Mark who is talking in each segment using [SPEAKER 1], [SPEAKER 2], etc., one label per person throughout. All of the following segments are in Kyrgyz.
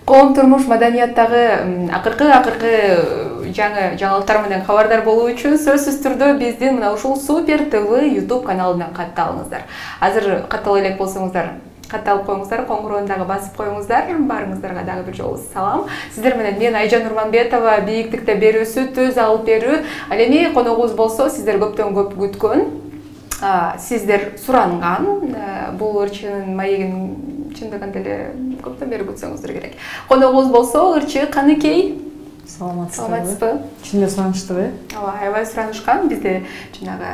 [SPEAKER 1] Коом турмуш маданияттагы акыркы жаңылыктар менен кабардар болуу үчүн сөзсүз түрдө биздин мына ушул Супер ТВ YouTube каналына катталыңыздар. Азыр каттала элек болсоңуздар, катталып коюңуздар, коңгуроonu дагы басып коюңуздар. Баарыңыздарга дагы бир жолу салам. Сиздер менен мен Айжан Нурманбетова, бийиктикте берүүсү, төз алып берүү. Ал эми коногубуз болсо, сиздер көптөн көп күткөн, сиздер суранган бул ырчынын маегин чындыгында эле көптөн бери күтсөңүздөр керек. Коногубуз болсо ырчы Каныкей.
[SPEAKER 2] Саламатсызбы? Чынында суранычтуу,
[SPEAKER 1] аябай суранышкан. Бизде жанагы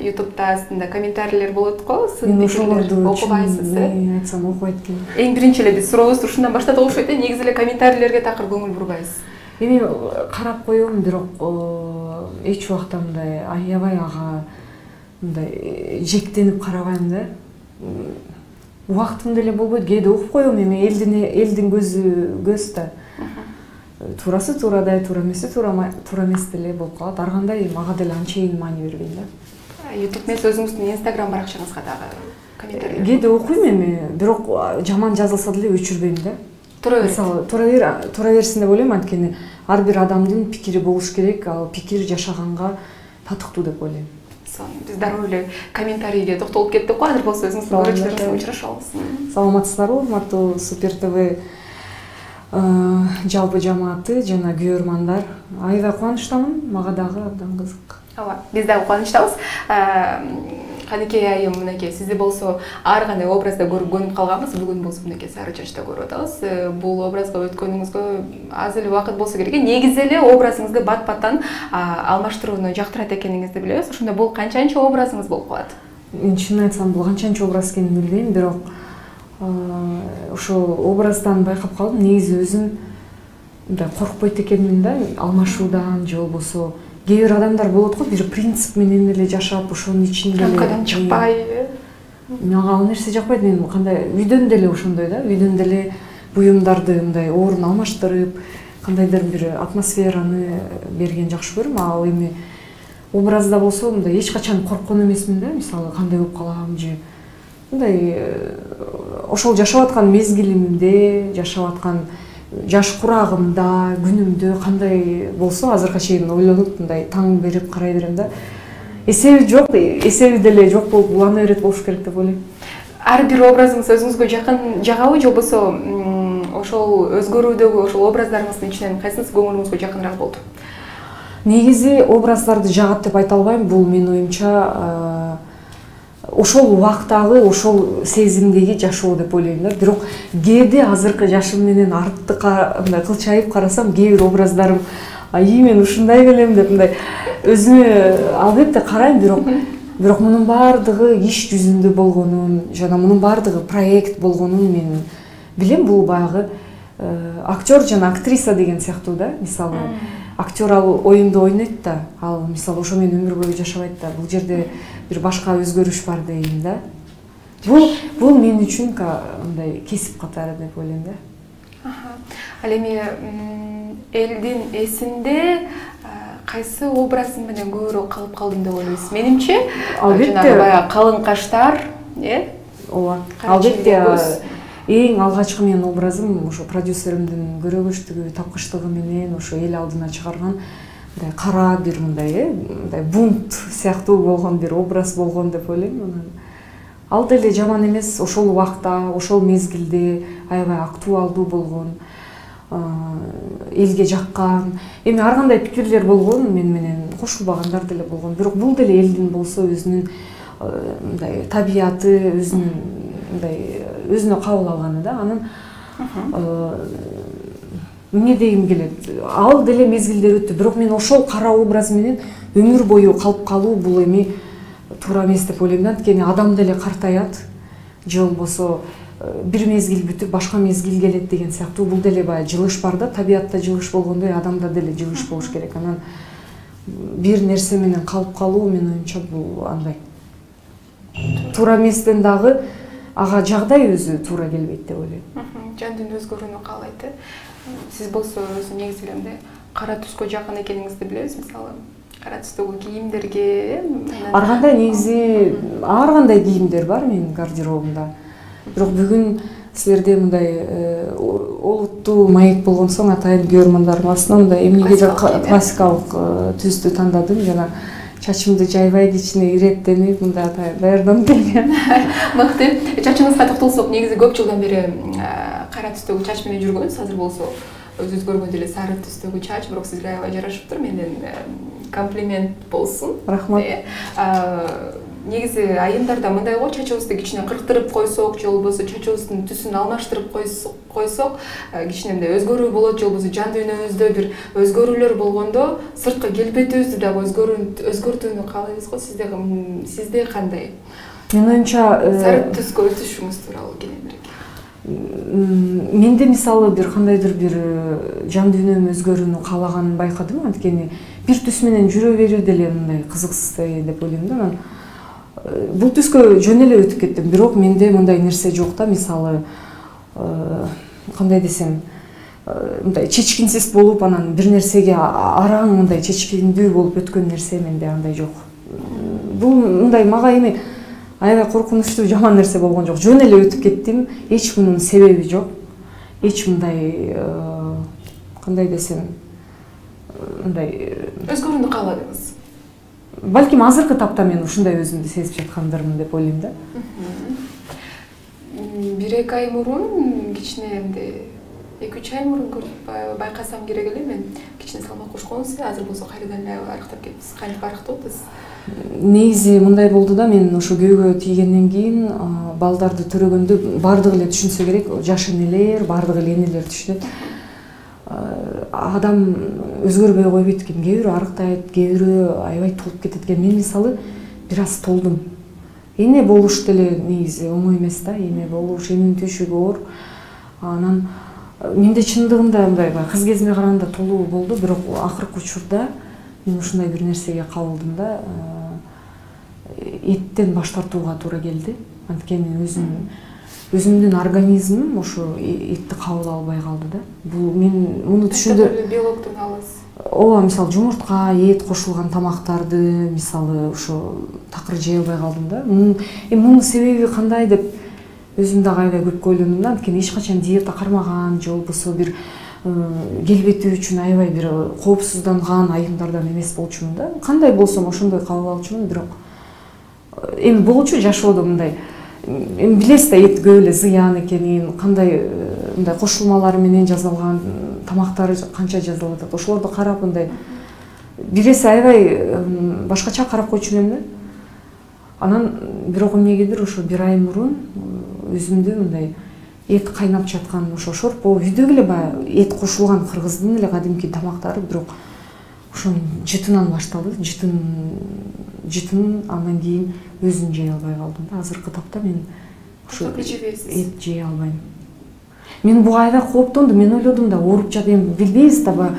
[SPEAKER 1] YouTube'да астында комментарийлер болот го.
[SPEAKER 2] Мен ошолорду
[SPEAKER 1] окубайсыз,
[SPEAKER 2] айтсам окубайт экен.
[SPEAKER 1] Эң биринчи эле биз сурообузду ушундан баштадык окшойт, негизи эле комментарийлерге такыр көңүл бурбайбыз.
[SPEAKER 2] Эми карап коем, бирок эч убакта мындай аябай ага мындай жектенип карабайм да. Убактым деле болбойт, кээде окуп коем, эми элдин көз да. Туурасы туурадай, туура эмес деле болуп калат. Ар кандай мага деле анчейин маани бербейм да.
[SPEAKER 1] YouTube эмес, өзүңүздүн Instagram баракчаңызга дагы комментарий.
[SPEAKER 2] Кээде окуйм эми, бирок жаман жазылса деле өчүрбөйм да.
[SPEAKER 1] Тура
[SPEAKER 2] Мисалы, тура берсин деп ойлойм, анткени ар бир адамдын пикири болуш керек, ал пикир жашаганга татыктуу деп ойлойм.
[SPEAKER 1] Биз дароо эле комментарийге токтолуп кеттик го, азыр болсо өзүңүздүн көрүүчүлөрүңүз менен учурашабыз.
[SPEAKER 2] Саламатсыздарбы, урматтуу Супер ТВ жалпы жамааты жана көрөрмандар. Аябай кубанычтамын, мага дагы абдан кызык.
[SPEAKER 1] Ооба, биз дагы кубанычтабыз. Каныкей айым, мынакей, сизди болсо ар кандай образда көрүп көнүп калганбыз. Бүгүн болсо мынакей сары чачта көрүп атабыз. Бул образга өткөнүңүзгө аз эле убакыт болсо керек. Негизи эле образыңызды бат-баттан алмаштырууну жактырат экениңизди билебиз. Ошондо бул канчанчы образыңыз болуп калат?
[SPEAKER 2] Мен чынын айтсам, бул канчанчы образ экенин билбейм, бирок ошол образдан байкап калдым. Негизи өзүм мындай коркпойт экенмин да, алмашуудан же болбосо кээ бир адамдар болот го, бир принцип менен эле жашап, ошонун ичинде
[SPEAKER 1] рамкадан чыкпай.
[SPEAKER 2] Мага ал нерсе жакпайт. Мен кандай үйдөн деле ошондой да, үйдөн деле буюмдарды мындай орун алмаштырып, кандайдыр бир атмосфераны берген жакшы көрөм. Ал эми образда болсо мындай эч качан корккон эмесмин да, мисалы кандай болуп калам же мындай ошол жашап аткан мезгилимде, жашап аткан жаш курагымда, күнүмдө кандай болсо азыркыга чейин ойлонуп мындай таң берип карай берем да. Эсеби жок, эсеби деле жок болуп улана берет болуш керек деп ойлойм.
[SPEAKER 1] Ар бир образыңыз өзүңүзгө жакын жагабы, же болбосо ошол өзгөрүүдөгү ошол образдарыңыздын ичинен кайсынысы көңүлүңүзгө жакыныраак болду?
[SPEAKER 2] Негизи образдарды жагат деп айта албайм. Бул менин оюмча ошол убактагы, ошол сезимдеги жашоо деп ойлойм да. Бирок кээде азыркы жашым менен артыкка мындай кылчайып карасам, кээ бир образдарым мен ушундай белем деп мындай өзүмө албетте карайм, бирок мунун баардыгы иш жүзүндө болгонун жана мунун баардыгы проект болгонун мен билем. Бул баягы актер жана актриса деген сыяктуу да. Мисалы, актер ал оюнду ойнойт да, ал мисалы ошо менен өмүр бою жашабайт да. Бул жерде бир башка өзгөрүш бар дейм да. Бул мен үчүн мындай кесип катары деп ойлойм да.
[SPEAKER 1] Ал эми элдин эсинде кайсы образың менен көбүрөөк калып калдым деп ойлойсуз? Менимче, албетте баягы калың каштар,
[SPEAKER 2] ооба. Албетте эң алгачкы менин образым ошо продюсеримдин көрөгөчтүгү, тапкычтыгы менен ошо эл алдына чыгарган мындай кара бир мындай бунт сыяктуу болгон бир образ болгон деп ойлойм. Ал деле жаман эмес, ошол убакта, ошол мезгилде аябай актуалдуу болгон, элге жаккан. Эми ар кандай пикирлер болгон, мен менен кошулбагандар деле болгон. Бирок бул деле элдин болсо өзүнүн мындай табияты, өзүнүн мындай өзүнө кабыл алганы да. Анан эмне дегим келет? Ал деле мезгилдер өттү, бирок мен ошол кара образ менен өмүр бою калып калуу бул эми туура эмес деп ойлойм да. Анткени адам деле картаят, же болбосо бир мезгил бүтүп башка мезгил келет деген сыяктуу. Бул деле баягы жылыш бар да, табиятта жылыш болгондой адамда деле жылыш болуш керек. Анан бир нерсе менен калып калуу менин оюмча бул андай туура эместен дагы ага жагдай өзү туура келбейт деп ойлойм.
[SPEAKER 1] Жандын өзгөрүүнү каалайт. Сиз болсо өзү негизи эле кара түскө жакын экениңизди билебиз, мисалы. Кара түстөгү кийимдерге
[SPEAKER 2] ар кандай негизи ар кандай кийимдер бар менин гардеробумда. Бирок бүгүн силерде мындай олуттуу маек болгон соң атайын көрмөндарым основном эмнеге классикалык түздү тандадым. Жана чачымды жайбай кичине иреттенип мындай атайын даярданып келген.
[SPEAKER 1] Мыкты. Чачыңызга токтолсок, негизи көп жылдан бери кара түстөгү чач менен жүргөнсүз. Азыр болсо өзүңүз көргөн деле сары түстөгү чач, бирок сизге аябай жарашыптыр. Менден комплимент болсун.
[SPEAKER 2] Рахмат.
[SPEAKER 1] Негизи айымдарда мындай го, чачыбызды кичине кырктырып койсок, же болбосо чачыбыздын түсүн алмаштырып койсок, кичине мындай өзгөрүү болот, же болбосо жан дүйнөбүздө бир өзгөрүүлөр болгондо сырткы келбетибизди дагы өзгөртүүнү каалайбыз го. Сизде кандай?
[SPEAKER 2] Менин оюмча
[SPEAKER 1] сары түскө өтүшүңүз тууралуу кененирээк.
[SPEAKER 2] Менде мисалы бир кандайдыр бир жан дүйнөм өзгөрүүнү каалаганын байкадым. Анткени бир түс менен жүрө берүү деле мындай кызыксыз деп ойлойм да. Мен бул түскө жөн эле өтүп кеттим. Бирок менде мындай нерсе жок да. Мисалы кандай десем, мындай чечкинсиз болуп, анан бир нерсеге араң мындай чечкиндүү болуп өткөн нерсе менде андай жок. Бул мындай мага эми аябай коркунучтуу жаман нерсе болгон жок. Жөн эле өтүп кеттим. Эч мунун себеби жок. Эч мындай кандай десем, мындай
[SPEAKER 1] өзгөрүүнү кааладыңыз.
[SPEAKER 2] Балким азыркы тапта мен ушундай өзүмдү сезип жаткандырмын деп ойлойм да.
[SPEAKER 1] 1-2 ай мурун, кичине эмди 2-3 ай мурун көрүп байкасам керек эле, мен кичине салмак кошконсуз, азыр болсо кайрадан эле арыктап кетипсиз. Кантип арыктоотсуз?
[SPEAKER 2] Негизи мындай болду да, мен ошо күйөөгө тийгенден кийин балдарды төрөгөндө бардыгы эле түшүнсө керек, жаш энелер, бардыгы эле энелер түшүнөт. Адам өзгөрбөй койбойт экен. Кээ бирөө арыктайт, кээ бирөө аябай толуп кетет экен. Мен мисалы бир аз толдум. Эне болуш деле негизи оңой эмес да. Эне болуш, эненин түйшүгү оор. Анан менде чындыгында мындай кыз кезиме караганда толуу болду, бирок акыркы учурда мен ушундай бир нерсеге кабылдым да. Эттен баш тартууга туура келди. Анткени өзүмдүн организмим ошо этти кабыл албай калды да. Бул мен муну түшүндүрүп
[SPEAKER 1] белоктун аласыз.
[SPEAKER 2] Ооба, мисалы жумуртка, эт кошулган тамактарды мисалы ошо такыр жей албай калдым да. Мунун себеби кандай деп өзүм дагы аябай көп ойлондум да. Анткени эч качан диета кармаган, же болбосо бир келбети үчүн аябай бир коопсузданган айымдардан эмес болчумун да. Кандай болсом ошондой кабыл алчумун, бирок эми болчу жашоодо мындай эми билесиз да, эт көп эле зыян экенин, кандай мындай кошулмалары менен жасалган тамактары канча жасалып атат. Ошолорду карап мындай бир эсе аябай башкача карап койчу элем да. Анан бирок эмнегедир ошо 1 ай мурун өзүмдү мындай эт кайнап жаткан, ошо шорпо үйдөгү эле баягы эт кошулган кыргыздын эле кадимки тамактары, бирок ошонун жытынан башталды. Жытын андан кийин өзүн жей албай калдым да. Азыркы тапта мен ошо эт жей албайм. Мен буга аябай кооптондум. Мен ойлодум да, ооруп жатам, билбейбиз да,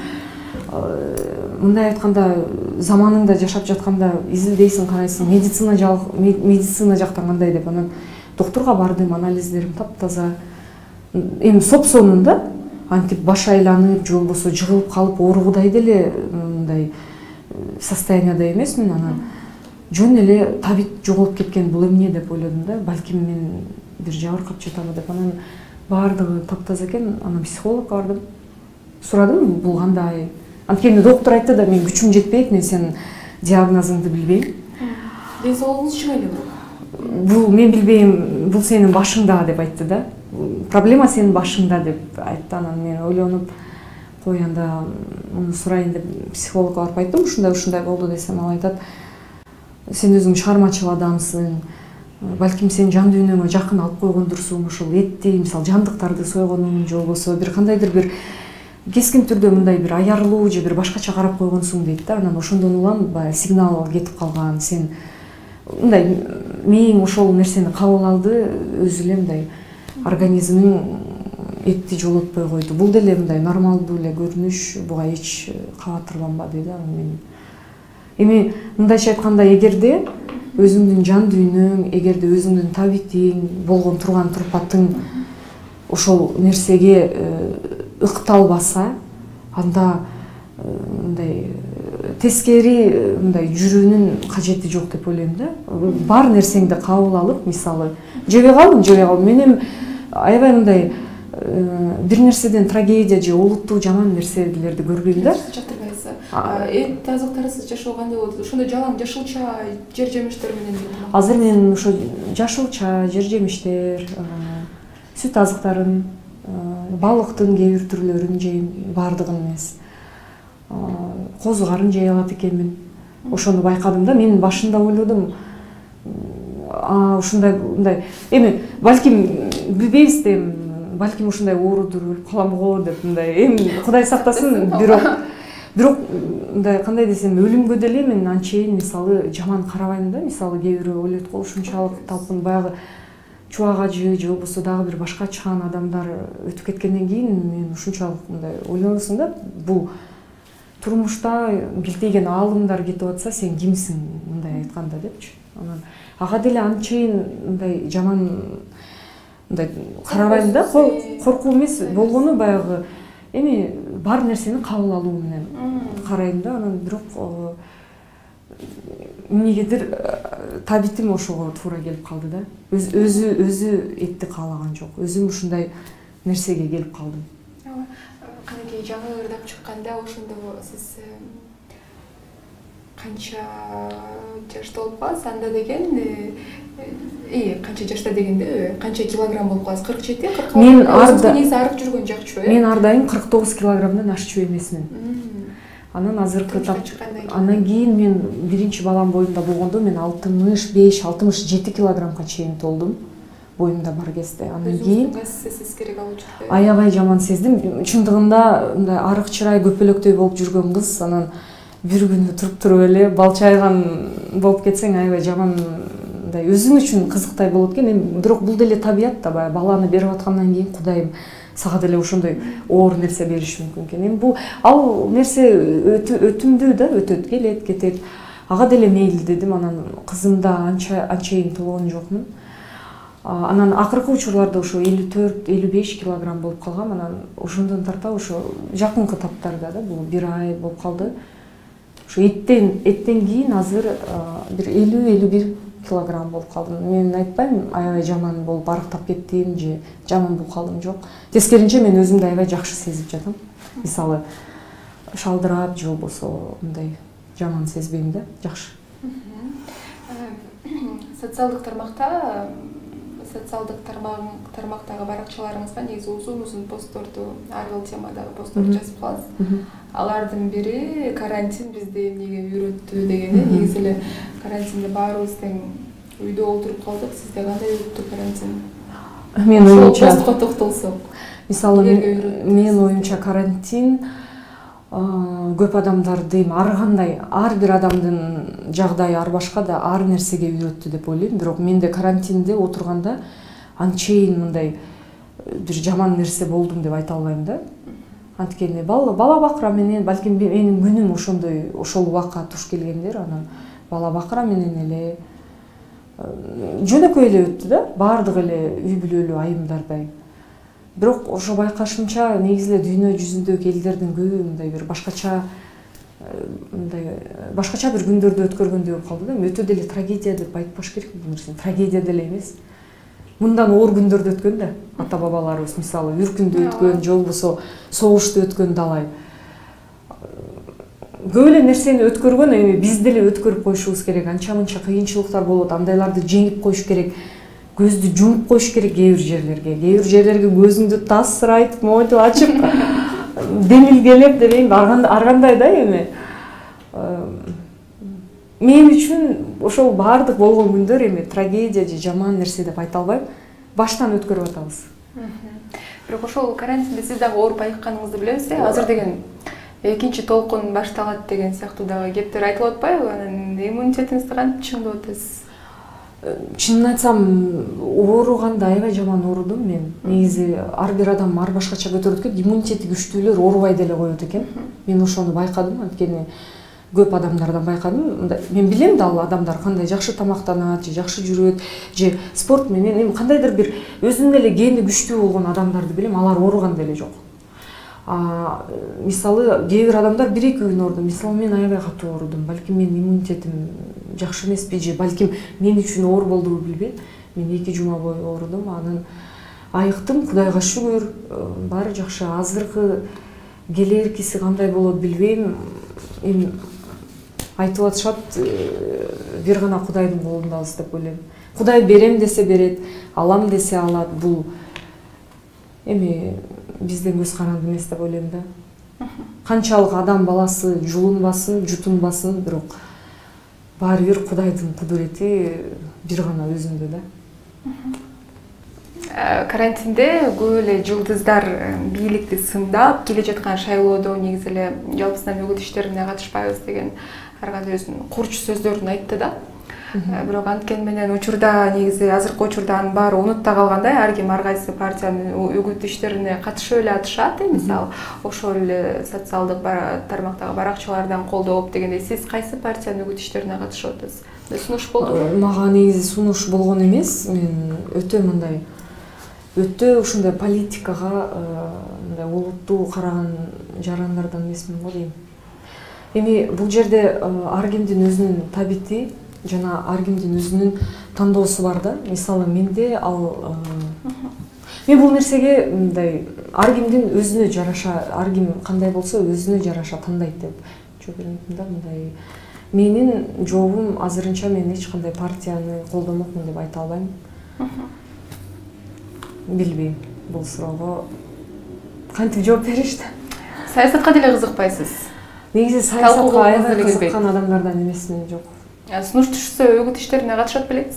[SPEAKER 2] мындай айтканда заманыңда жашап жатканда изилдейсиң, карайсың, медицина жактан кандай деп. Анан доктурга бардым, анализдерим таптаза. Эми сопсонун да, антип баш айланып, же болбосо жыгылып калып ооругудай деле мындай состоянияда эмесмин. Анан жөн эле табит жоголуп кеткен, бул эмне деп ойлодум да. Балким мен бир жабыркап жатамы деп. Анан баардыгы таптаза экен. Анан психологко бардым. Сурадым, бул кандай? Анткени доктор айтты да, мен күчүм жетпейт, мен сенин диагнозуңду билбейм.
[SPEAKER 1] Ден соолугуңуз чыңайлуу.
[SPEAKER 2] Бул мен билбейм, бул сенин башыңда деп айтты да. Проблема сенин башыңда деп айтты. Анан мен ойлонуп, кой анда муну сурайын деп психологко барып айттым. Ушундай болду десем, ал айтат: сен өзүң чыгармачыл адамсың. Балким сен жан дүйнөңө жакын алып койгондурсуң, ошол этти, мисалы жандыктарды сойгонуң, же болбосо бир кандайдыр бир кескин түрдө мындай бир аярлуу же бир башкача карап койгонсуң дейт да. Анан ошондон улам баягы сигнал кетип калган. Сен мындай мээң ошол нерсени кабыл алды, өзү эле мындай организмиң этти жолотпой койду. Бул деле мындай нормалдуу эле көрүнүш, буга эч кабатырланбады да. Эми мындайча айтканда, эгерде өзүңдүн жан дүйнөң, эгерде өзүңдүн табитиң, болгон турган турпатың ошол нерсеге ыкталбаса, анда мындай тескери мындай жүрүүнүн кажети жок деп ойлойм да. Бар нерсеңди кабыл алып, мисалы жебей калдым. Мен эми аябай мындай бир нерседен трагедия же олуттуу жаман нерселерди көрбөйм да.
[SPEAKER 1] Жактырбайсыз. Эт азыктарысыз жашоо кандай болот? Ошондой жалаң жашылча жер жемиштер менен эле.
[SPEAKER 2] Азыр мен ошо жашылча жер жемиштер, сүт азыктарын, балыктын кээ бир түрлөрүн жейм, баардыгын эмес. Козу карын жей алат экенмин. Ошону байкадым да. Мен башында ойлодум, ушундай мындай эми балким билбейбиз да, балким ушундай оорудур өлүп калам го деп мындай эми Кудай сактасын, бирок мындай кандай десем, өлүмгө деле мен анчейин мисалы жаман карабайм да. Мисалы кээ бирөө ойлойт го, ушунчалык талпын баягы чубак ажы же болбосо дагы бир башка чыган адамдар өтүп кеткенден кийин мен ушунчалык мындай ойлоносуң да, бул турмушта билтейген аалымдар кетип атса сен кимсиң мындай айтканда депчи. Анан ага деле анчейин мындай жаман мындай карабайм да, коркуу эмес болгону баягы эми бар нерсени кабыл алуу менен карайм да. Анан бирок эмнегедир табитим ошого туура келип калды да. Өзү этти каалаган жок. Өзүм ушундай нерсеге келип калдым.
[SPEAKER 1] Канекей жаңы ырдап чыкканда ошондо сиз канча жашта болуп каласыз? Анда деген канча жашта дегенде канча килограмм болуп каласыз? 47, 46?
[SPEAKER 2] Мен арда
[SPEAKER 1] негизи арык жүргөн жакчу,
[SPEAKER 2] Мен ар дайым 49 килограммдан ашчу эмесмин. Анан азыркы анан кийин мен биринчи балам боюмда болгондо мен 65-67 килограммга чейин толдум. Боюмда бар кезде. Анан кийин аябай жаман сездим. Чындыгында мындай арык чырай көпөлөктөй болуп жүргөн кыз анан бир күнү туруп эле балчайган болуп кетсең аябай жаман мындай өзүң үчүн кызыктай болот экен. Бирок бул деле табият да, баягы баланы берип аткандан кийин Кудайым сага деле ошондой оор нерсе бериши мүмкүн экен. Эми бул ал нерсе өтүмдүү да, өтөт, келет, кетет. Ага деле мейли дедим. Анан кызымда анчейин толгон жокмун. Анан акыркы учурларда ошо 54-55 килограмм болуп калгам. Анан ошондон тарта ошо жакынкы таптарда да, бул 1 ай болуп калды. Ошо эттен кийин азыр бир 50-51 килограмм болуп калдым. Мен айтпайм аябай жаман болуп арыктап кеттим же жаман болуп калдым, жок. Тескеринче мен өзүмдү аябай жакшы сезип жатам. Мисалы шалдырап же болбосо мындай жаман сезбейм да, жакшы.
[SPEAKER 1] Социалдык тармактагы баракчаларыңызга негизи узун постторду, ар бир темадагы постторду жазып каласыз. Алардын бири карантин бизди эмнеге үйрөттү дегени. Негизи эле карантинде баарыбыз тең үйдө олтуруп калдык. Сизде кандай өттү карантин?
[SPEAKER 2] Мен оюмча
[SPEAKER 1] токтолсок.
[SPEAKER 2] Мисалы мен оюмча карантин көп адамдарды ар кандай, ар бир адамдын жагдайы ар башка да ар нерсеге үйрөттү деп ойлойм. Бирок менде карантинде отурганда анчейин мындай бир жаман нерсе болдум деп айта албайм да. Анткени бала бакыра менен балким менин күнүм ошол убакка туш келгендер. Анан бала бакыра менен эле жөнөкөй эле өттү да, баардык эле үй бүлөлүү айымдардай. Бирок ошо байкашымча негизи эле дүйнө жүзүндөгү элдердин көбү мындай бир башкача бир күндөрдү өткөргөндөй болуп калды да. Өтө деле трагедия деп айтпаш керек бул нерсени. Трагедия деле эмес. Мындан оор күндөрдү өткөн да. Ата бабаларыбыз мисалы үркүндү өткөн, же болбосо согушту өткөн далай. Көп эле нерсени өткөргөн, эми биз деле өткөрүп коюшубуз керек. Анча-мынча кыйынчылыктар болот, андайларды жеңип коюш керек. Көздү жумуп коюш керек кээ бир жерлерге көзүңдү тасырайтып, монтип ачып, демилгелеп дебейм, ар кандай да эми. Мен үчүн ошол баардык болгон күндөр эми трагедия же жаман нерсе деп айта албайм. Баштан өткөрүп атабыз.
[SPEAKER 1] Бирок ошол карантинде сиз дагы ооруп айыкканыңызды билебиз. Азыр деген экинчи толкун башталат деген сыяктуу дагы кептер айтылып атпайбы? Анан иммунитетиңизди кантип чыңдап атасыз?
[SPEAKER 2] Чынын айтсам, ооруганда аябай жаман оорудум мен. Негизи ар бир адам ар башкача көтөрөт экен. Иммунитети күчтүүлөр оорубай деле коет экен. Мен ошону байкадым, анткени көп адамдардан байкадым. Мен билем да ал адамдар кандай жакшы тамактанат, же жакшы жүрөт, же спорт менен эми кандайдыр бир өзүнүн эле гени күчтүү болгон адамдарды билем, алар ооруган деле жок. Мисалы кээ бир адамдар 1-2 күн ооруду. Мисалы мен аябай катуу оорудум. Балким менин иммунитетим жакшы эмеспи, же балким мен үчүн оор болдубу билбейм. Мен 2 жума бою оорудум. Анан айыктым, Кудайга шүгүр, баары жакшы. Азыркы келеркиси кандай болот билбейм. Эми айтып атышат, бир гана Кудайдын колундабыз деп ойлойм. Кудай берем десе берет, алам десе алат. Бул эми биздин көз каранды эмес деп ойлойм да. Канчалык адам баласы жулунбасын, жутунбасын, бирок баары бир Кудайдын кудурети бир гана өзүндө да.
[SPEAKER 1] Карантинде көп эле жылдыздар бийликти сындап келе жаткан шайлоодо негизи эле жалпысынан өгүт иштерине катышпайбыз деген ар кандай өзүнүн курч сөздөрүн айтты да. Бирок анткени менен учурда негизи азыркы учурда анын баары унутта калгандай, ар ким ар кайсы партиянын өгүт иштерине катышып эле атышат. Мисалы, ошол эле социалдык тармактагы баракчалардан колдоо болуп дегендей, сиз кайсы партиянын өгүт иштерине катышып атасыз? Сунуш болдубу?
[SPEAKER 2] Мага негизи сунуш болгон эмес. Мен өтө ушундай политикага мындай олуттуу караган жарандардан эмесмин го дейм. Эми бул жерде ар кимдин өзүнүн табити жана ар кимдин өзүнүн тандоосу бар да. Мисалы, менде мен бул нерсеге мындай ар кимдин өзүнө жараша, ар ким кандай болсо өзүнө жараша тандайт деп жооп беремин да. Мындай менин жообум азырынча мен эч кандай партияны колдомокмун деп айта албайм. Билбейм бул суроого кантип жооп беришти.
[SPEAKER 1] Саясатка деле кызыкпайсыз?
[SPEAKER 2] Негизи саясатка аябай кызыккан адамдардан эмесмин, жок.
[SPEAKER 1] Сунуш түшсө өгүт иштерине катышат белеңиз?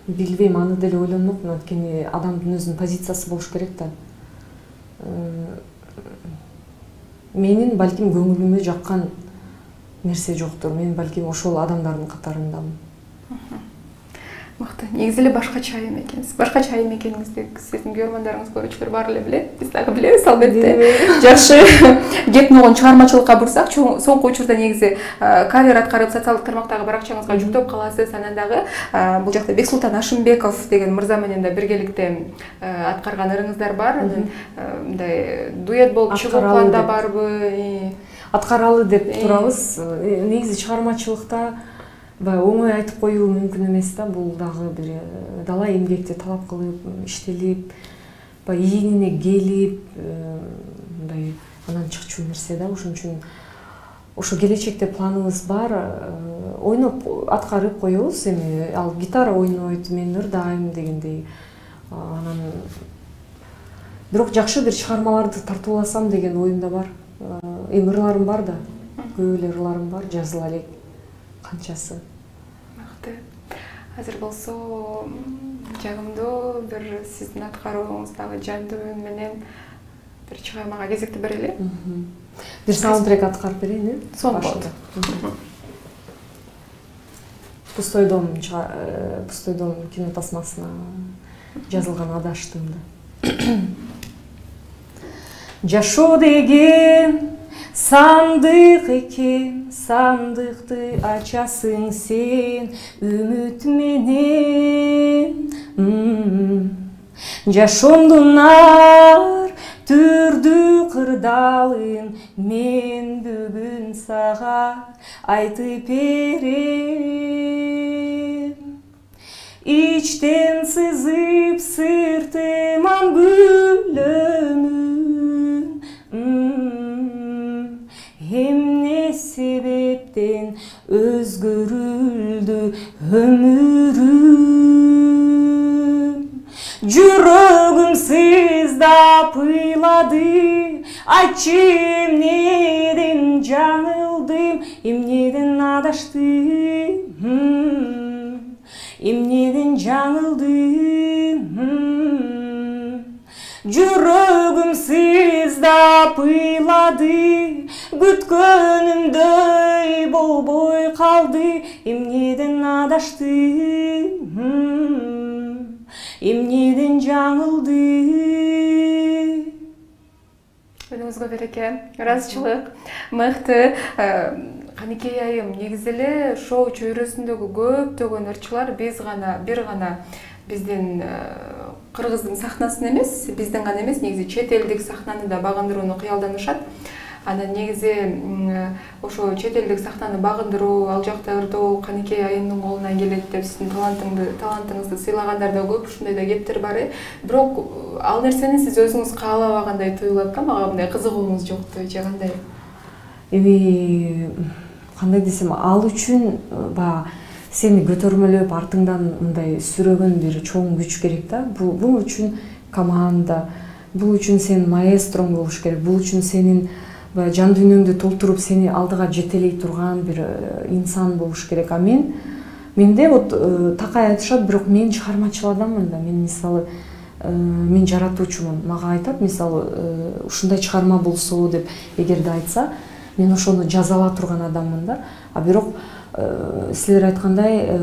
[SPEAKER 2] Билбейм, аны деле ойлонмокмун, анткени адамдын өзүнүн позициясы болуш керек да. Менин балким көңүлүмө жаккан нерсе жоктур. Мен балким ошол адамдардын катарындамын.
[SPEAKER 1] Мыкты. Негизи эле башкача айым экенсиз. Башкача айым экениңизди сиздин көрөрмандарыңыз, көрүүчүлөр баары эле билет. Биз дагы билебиз албетте. Жакшы кеп могон чыгармачылыкка бурсак, соңку учурда негизи кавер аткарып социалдык тармактагы баракчаңызга жүктөп каласыз. Анан дагы бул жакта Бексултан Ашымбеков деген мырза менен да биргеликте аткарган ырыңыздар бар. Анан мындай дуэт болуп чыгуу планда барбы?
[SPEAKER 2] Аткаралы деп турабыз. Негизи чыгармачылыкта оңой айтып коюу мүмкүн эмес да. Бул дагы бир дала эмгекти талап кылып, иштелип, ийинине келип, мындай анан чыкчу нерсе да. Ошон үчүн ошо келечекте планыбыз бар. Ойноп аткарып коебуз. Эми ал гитара ойнойт, мен ырдайм дегендей. Анан бирок жакшы бир чыгармаларды тартууласам деген оюмда бар. Эми ырларым бар да. Көп эле ырларым бар, жазыла элек. Канчасы.
[SPEAKER 1] Мыкты. Азыр болсо жагымдуу бир сиздин аткарууңуздагы жандуу үн менен бир чыгармага кезекти берели.
[SPEAKER 2] Бир саундтрек аткарып берейин,
[SPEAKER 1] Сонун болот.
[SPEAKER 2] Пустой дом кинотасмасына жазылган адаштымды. Жашоо деген сандык экен, сандыкты ачасың сен үмүт менен. Жашоомдун ар түрдүү кырдаалын мен бүгүн сага айтып берем. Ичтен сызып сыртыман күлөмүн, эмне себептен өзгөрүлдү өмүрүм. Жүрөгүм сыздап ыйлады, айтчы эмнеден жаңылдым, эмнеден адаштым, эмнеден жаңылдым. Жүрөгүм сыздап ыйлады, күткөнүмдөй болбой калды, эмнеден адаштым, эмнеден жаңылды.
[SPEAKER 1] Өнүңүзгө береке, ыраазычылык. Мыкты. Каныкей айым, негизи эле шоу чөйрөсүндөгү көптөгөн ырчылар бир гана биздин кыргыздын сахнасын эмес, биздин гана эмес, негизи чет элдик сахнаны да багындырууну кыялданышат. Анан негизи ошо чет элдик сахнаны багындыруу, ал жакта ырдоо Каныкей айымдын колунан келет деп сиздин талантыңызды сыйлагандар да көп, ушундай да кептер бар. Бирок ал нерсени сиз өзүңүз каалабагандай туюлат да, мага мындай кызыгууңуз жокту же кандай?
[SPEAKER 2] Эми кандай десем, ал үчүн баягы сени көтөрмөлөп артыңдан мындай сүрөгөн бир чоң күч керек да. Бул үчүн команда, бул үчүн сенин маэстроң болуш керек, бул үчүн сенин жан дүйнөңдү толтуруп сени алдыга жетелей турган бир инсан болуш керек. А менде вот такай айтышат, бирок мен чыгармачыл адаммын да. Мен мисалы мен жаратуучумун. Мага айтат, мисалы ушундай чыгарма болсо деп эгерде айтса, мен ошону жазала турган адаммын да. А бирок силер айткандай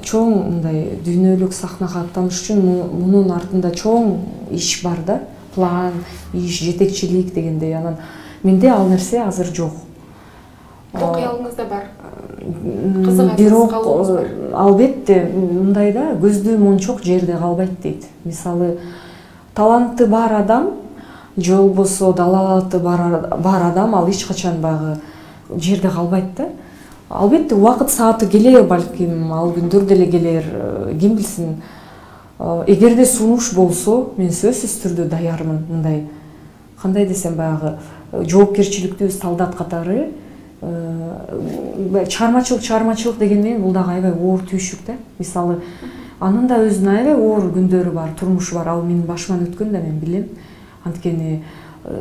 [SPEAKER 2] чоң мындай дүйнөлүк сахнага аттаныш үчүн мунун артында чоң иш бар да. План, иш, жетекчилик дегендей. Анан менде ал нерсе азыр жок.
[SPEAKER 1] Бирок кыялыңызда бар.
[SPEAKER 2] Бирок албетте мындай да, көздүү мончок жерде калбайт дейт. Мисалы, таланты бар адам же болбосо далалаты бар адам ал эч качан багы жерде калбайт да. Албетте убакыт сааты келер, балким ал күндөр деле келер, ким билсин. Эгерде сунуш болсо, мен сөзсүз түрдө даярмын. Мындай кандай десем, баягы жоопкерчиликтүү солдат катары. Чыгармачылык деген менен бул дагы аябай оор түйшүк да. Мисалы, анын да өзүнүн аябай оор күндөрү бар, турмушу бар. Ал менин башыман өткөн да, мен билем. Анткени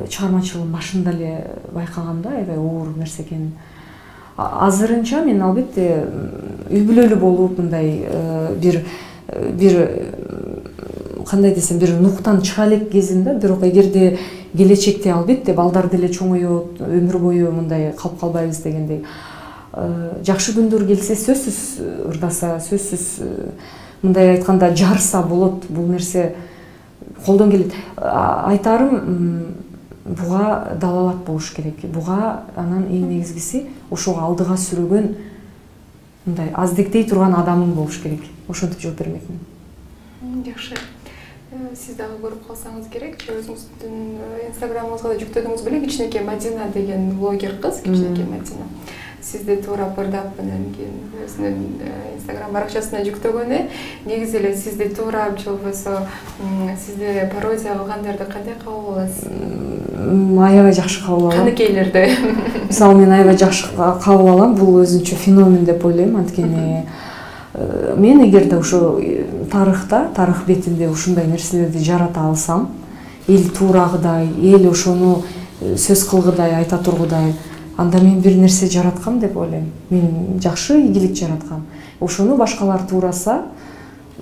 [SPEAKER 2] чыгармачылыктын башында эле байкагам да, аябай оор нерсе экенин. Азырынча мен албетте үй бүлөлүү болуп, мындай бир кандай десем, бир нуктан чыга элек кезим да. Бирок эгерде келечекте албетте балдар деле чоңойот, өмүр бою мындай калып калбайбыз дегендей. Жакшы күндөр келсе сөзсүз ырдаса, сөзсүз мындай айтканда жарса болот. Бул нерсе колдон келет. Айтарым, буга далалат болуш керек. Буга анан эң негизгиси ошого алдыга сүрөгөн мындай аздектей турган адамың болуш керек. Ошентип жооп бермекмин.
[SPEAKER 1] Жакшы. Сиз дагы көрүп калсаңыз керек, өзүңүздүн инстаграмыңызга да жүктөдүңүз беле, Кичинекей Мадина деген блогер кыз, Кичинекей Мадина. Сизди туурап ырдап, анан кийин өзүнүн инстаграм баракчасына жүктөгөнү, негизи эле сизди туурап же болбосо сизди пародия кылгандарды кандай кабыл аласыз?
[SPEAKER 2] Аябай жакшы кабыл алам.
[SPEAKER 1] Каныкейлерди.
[SPEAKER 2] Мисалы, мен аябай жакшы кабыл алам. Бул өзүнчө феномен деп ойлойм. Анткени мен эгерде ошо тарых бетинде ушундай нерселерди жарата алсам, эл туурагыдай, эл ошону сөз кылгыдай, айта тургудай, анда мен бир нерсе жараткам деп ойлойм. Мен жакшы ийгилик жараткам. Ошону башкалар туураса,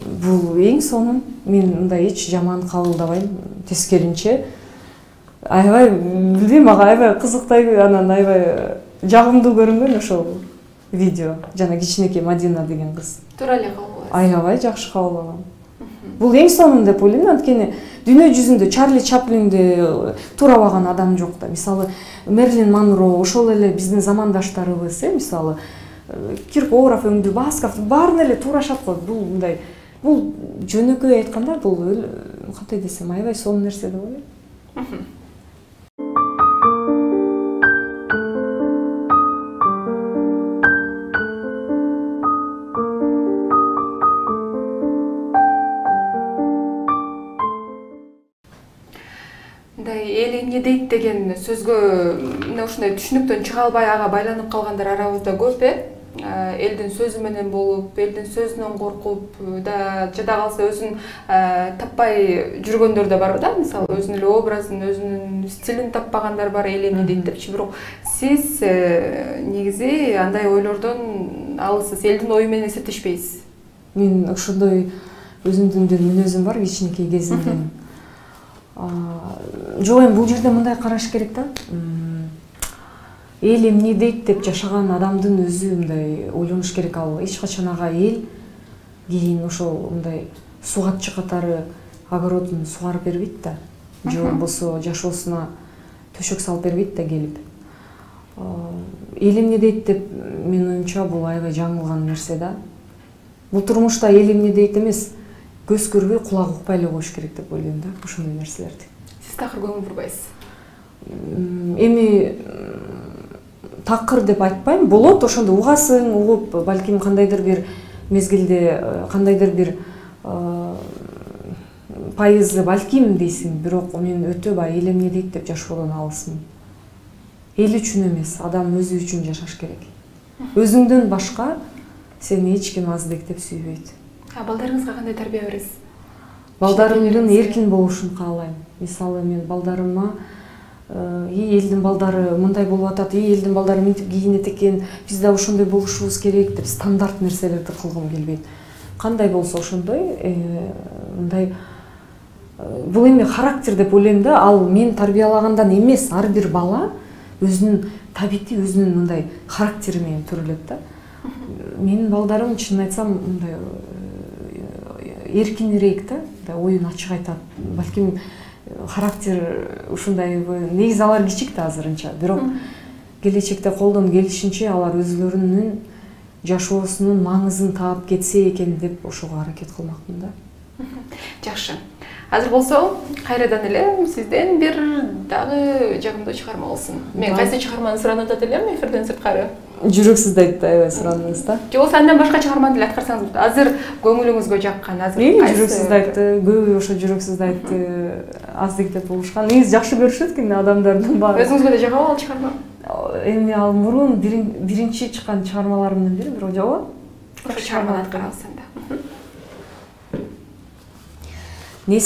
[SPEAKER 2] бул эң сонун. Мен мындай эч жаман кабылдабайм. Тескеринче аябай билбейм, мага аябай кызыктай, анан аябай жагымдуу көрүнгөн ошол видео. Жана Кичинекей Мадина деген кыз.
[SPEAKER 1] Туура эле кабыл аласыз.
[SPEAKER 2] Аябай жакшы кабыл алам. Бул эң сонун деп ойлойм, анткени дүйнө жүзүндө Чарли Чаплинди туурабаган адам жок да. Мисалы, Мерлин Монро, ошол эле биздин замандаштарыбыз, мисалы, Киркоров, Өңдү Басков баарын эле туурашат го. Бул мындай, бул жөнөкөй айтканда, бул кандай десем, аябай сонун нерсе деп ойлойм.
[SPEAKER 1] Эл эмне дейт деген сөзгө ушундай түшүнүктөн чыга албай ага байланып калгандар арабызда көп, элдин сөзү менен болуп, элдин сөзүнөн коркуп да, жада калса өзүн таппай жүргөндөр да бар да. Мисалы, өзүнүн эле образын, өзүнүн стилин таппагандар бар, эл эмне дейт депчи. Бирок сиз негизи андай ойлордон алысыз, элдин ою менен эсептешпейсиз.
[SPEAKER 2] Мен ошондой өзүмдүн бир мүнөзүм бар кичинекей кезимден. Жок, эми бул жерде мындай караш керек да. Эл эмне дейт деп жашаган адамдын өзү мындай ойлонуш керек. Ал эч качан ага эл кийин ошол мындай сугатчы катары огородун сугарып бербейт да. Же болбосо жашоосуна төшөк салып бербейт да келип. Эл эмне дейт деп менин оюмча бул аябай жаңылган нерсе да. Бул турмушта эл эмне дейт эмес, көз көрбөй, кулак укпай эле коюш керек деп ойлойм да, ошондой нерселерди.
[SPEAKER 1] Сиз такыр көңүл бурбайсыз.
[SPEAKER 2] эми такыр деп айтпайм, болот ошондо угасың, угуп балким кандайдыр бир мезгилде кандайдыр бир пайызы балким дейсиң, бирок мен өтө баягы элем эмне дейт деп жашоодон алысмын. Эл үчүн эмес, адам өзү үчүн жашаш керек. Өзүңдөн башка сени эч ким аздектеп сүйбөйт.
[SPEAKER 1] Балдарыңызга кандай тарбия бересиз?
[SPEAKER 2] Балдарымдын эркин болушун каалайм. Мисалы мен балдарыма элдин балдары мындай болуп атат, элдин балдары мынтип кийинет экен, биз да ошондой болушубуз керек деп стандарт нерселерди кылгым келбейт. Кандай болсо ошондой, мындай бул эми характер деп ойлойм да, ал мен тарбиялагандан эмес, ар бир бала өзүнүн табити, өзүнүн мындай характери менен төрөлөт да. Менин балдарым чынын айтсам мындай эркинирээк да, оюн ачык айтат. Балким характер ушундай, негизи алар кичик да азырынча, бирок келечекте колдон келишинче алар өзлөрүнүн жашоосунун маңызын таап кетсе экен деп ошого аракет кылмакмын да.
[SPEAKER 1] Жакшы. Азыр болсо кайрадан эле сизден бир дагы жагымдуу чыгарма болсун. Мен кайсы чыгарманы суранып атат элем эфирден сырткары?
[SPEAKER 2] Жүрөксүздү айтты, аябай сураныңыз да.
[SPEAKER 1] Же болсо андан башка чыгарманы деле аткарсаңыз болот. Азыр көңүлүңүзгө жаккан, азыр
[SPEAKER 2] жүрөксүздү айтты, көбү ошо жүрөксүздү айтты, аздектеп болушкан. Негизи жакшы көрүшөт экен адамдардын баары.
[SPEAKER 1] Өзүңүзгө да жагабы ал чыгарма?
[SPEAKER 2] Эми ал мурун биринчи чыккан чыгармаларымдын бири, бирок жагабы.
[SPEAKER 1] Ошо чыгарманы аткарабыз анда.
[SPEAKER 2] Не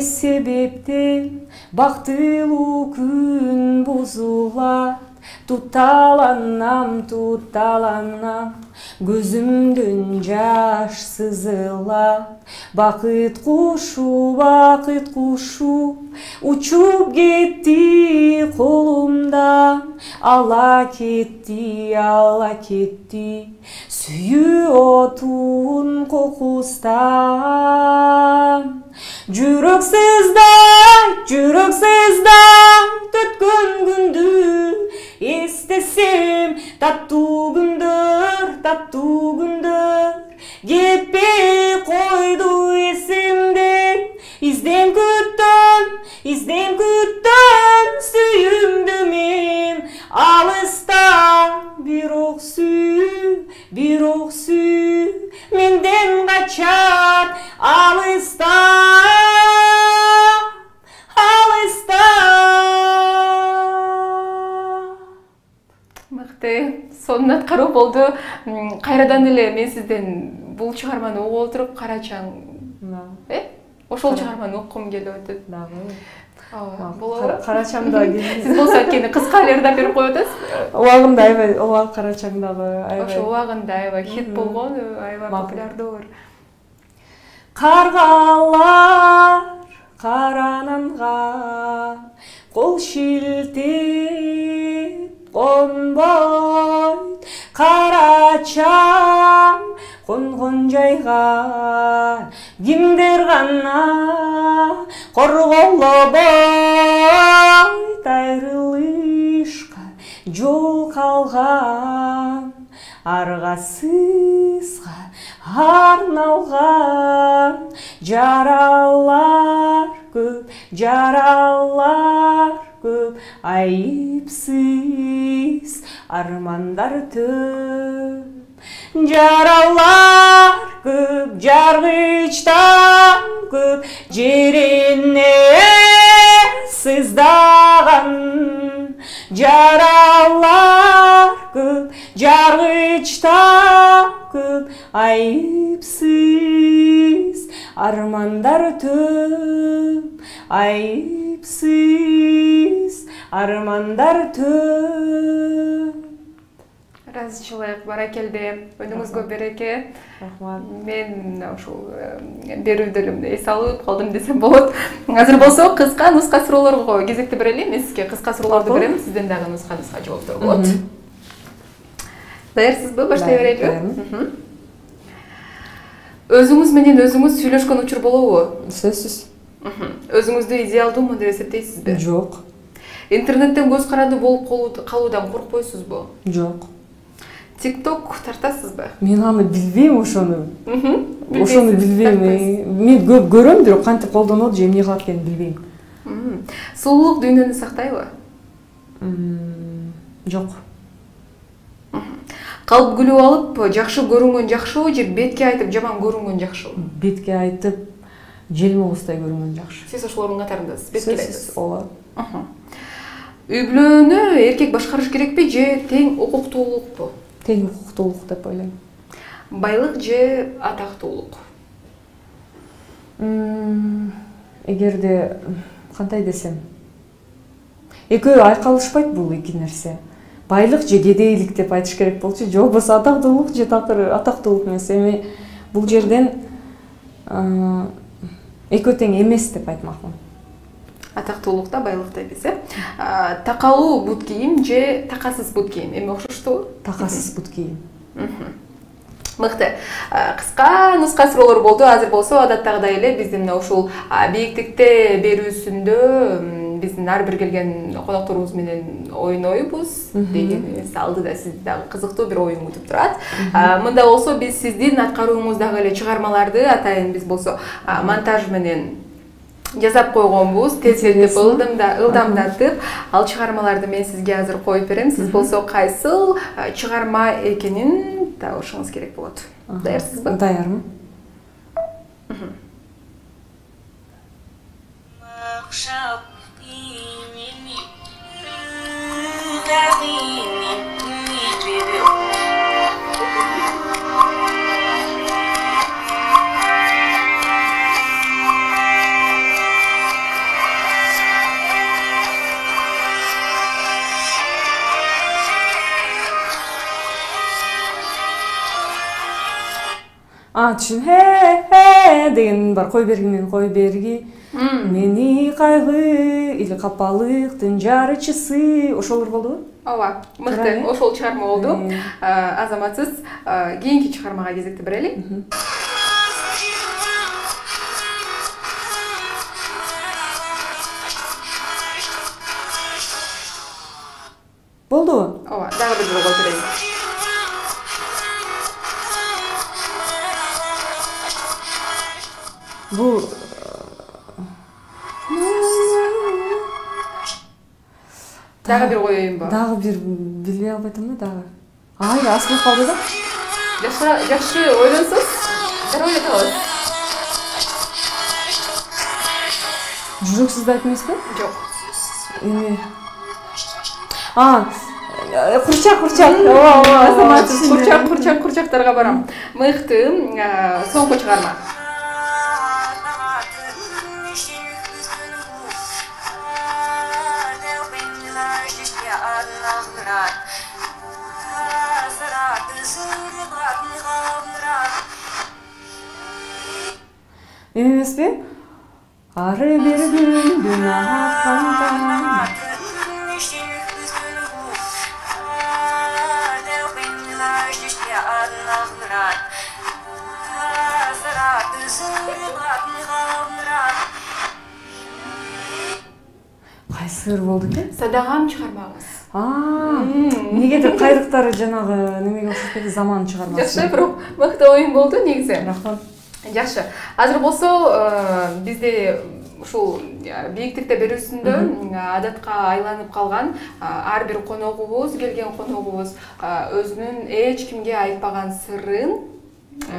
[SPEAKER 2] себептен бактылуу күн бузулат, тутталанам, көзүмдөн жаш сызылат. Бакыт кушу, учуп кетти колумдан, ала кетти, сүйүү отун кокустан. Жүрөксүздай өткөн күндү эстесем, таттуу күндөр кетпей койду эсимден. Изден күттөм сүйүмдү мен алыстан, бирок сүй менден качат алыстан.
[SPEAKER 1] Мыкты, сонун аткаруу болду. Кайрадан эле мен сизден бул чыгарманы угуп отуруп Карачаң, ошол чыгарманы окугум келип атат. Болобу?
[SPEAKER 2] Карачаңда
[SPEAKER 1] сиз болсо анткени кыска эле берип коюп атасыз.
[SPEAKER 2] Убагында аябай, Карачаңдагы аябай.
[SPEAKER 1] Ошо убагында аябай хит болгон, аябай популярдуу.
[SPEAKER 2] Каргалар карананга кол шилтеп конбойт, Карачаң конгон жайга кимдер гана корголобойт. Айрылышка жол калган, аргасызга арналган жаралар көп, айыпсыз армандар төп. Жаралар көп, жаргычтан көп, жерине сыздаган. Жаралар көп, жаргычтан көп, айыпсыз армандар төп. Айыпсыз армандар төп.
[SPEAKER 1] Разычылык, баракелде, өнүңүзгө береке.
[SPEAKER 2] Рахмат.
[SPEAKER 1] Мен ушул берүүдө эс алып калдым десем болот. Азыр болсо кыска нуска суроолорго кезекти берели. Мен сизге кыска суроолорду берем, сизден дагы нуска жооптор болот. Даярсызбы? Баштай берелиби? Өзүңүз менен өзүңүз сүйлөшкөн учур болобу?
[SPEAKER 2] Сөзсүз.
[SPEAKER 1] Өзүңүздү идеалдуумун деп эсептейсизби?
[SPEAKER 2] Жок.
[SPEAKER 1] Интернеттен көз каранды болуп калуудан коркпойсузбу?
[SPEAKER 2] Жок.
[SPEAKER 1] TikTok тартасызбы?
[SPEAKER 2] Мен аны билбейм, ошону билбейм. Мен көп көрөм, бирок кантип колдонот же эмне кылат экенин билбейм.
[SPEAKER 1] Сулуулук дүйнөнү сактайбы?
[SPEAKER 2] Жок.
[SPEAKER 1] Калп күлүп алып, жакшы көрүнгөн жакшыбы же бетке айтып жаман көрүнгөн жакшыбы?
[SPEAKER 2] Бетке айтып, желмооздай көрүнгөн жакшы.
[SPEAKER 1] Сиз ошолордун катарындасыз, бетке айтасыз.
[SPEAKER 2] Ооба.
[SPEAKER 1] Үй бүлөнү эркек башкарыш керекпи же тең укуктуулукпу?
[SPEAKER 2] Тең укуктуулук деп ойлойм.
[SPEAKER 1] Байлык же атактуулук?
[SPEAKER 2] Эгерде кандай десем, экөө айкалышпайт бул эки нерсе. Байлык же кедейлик деп айтыш керек болчу, же болбосо атактуулук же такыр атактуулук эмес. Эми бул жерден экөө тең эмес деп айтмакмын.
[SPEAKER 1] Атактуулукта, байлыкта эмес, э? Такалуу бут кийим же такасыз бут кийим? Эми окшоштубу?
[SPEAKER 2] Такасыз бут кийим.
[SPEAKER 1] Мыкты. Кыска нуска суроолор болду. Азыр болсо адаттагыдай эле биздин мына ушул бийиктикте берүүсүндө биздин ар бир келген конокторубуз менен ойнойбуз деген эмес. Алдыда сизди дагы кызыктуу бир оюн күтүп турат. Мында болсо биз сиздин аткарууңуздагы эле чыгармаларды атайын биз болсо монтаж менен жазап койгонбуз, тезиртип, ылдамдатып, ал чыгармаларды мен сизге азыр коюп берем. Сиз болсо кайсыл чыгарма экенин табышыңыз керек болот. Даярсызбы?
[SPEAKER 2] Даярмын. Чын деген бар, кой берги мен кой берги. Мени кайгы или капалыктын жарычысы. Ошолор болдубу?
[SPEAKER 1] Ооба, мыкты. Ошол чыгарма болду. Азаматсыз кийинки чыгармага кезекти берели.
[SPEAKER 2] Болдубу?
[SPEAKER 1] Ооба, дагы бир жолу коюп берейин.
[SPEAKER 2] Бул
[SPEAKER 1] дагы бир коеюнбу?
[SPEAKER 2] Дагы бир билбей албайтам да дагы. Аз болуп калды да.
[SPEAKER 1] Жакшы ойлонсоз, дагы ойлоп алабыз.
[SPEAKER 2] Жүрөксүз да айтмайсызбы?
[SPEAKER 1] Жок.
[SPEAKER 2] Эми курчак. Ооба,
[SPEAKER 1] Курчактарга барам. Мыкты. Соңку чыгарма.
[SPEAKER 2] Эмеспи? Ары бир күндүн акканда. Кайсы болду экен?
[SPEAKER 1] Садагам чыгармагыз.
[SPEAKER 2] Негедир кайрыктары жанагы немеге окшоп кетти, заман чыгармасы.
[SPEAKER 1] Жакшы, бирок мыкты оюн болду негизи.
[SPEAKER 2] Рахмат.
[SPEAKER 1] Жакшы. Азыр болсо бизде ушул бийиктикте берүүсүндө адатка айланып калган ар бир коногубуз, келген коногубуз өзүнүн эч кимге айтпаган сырын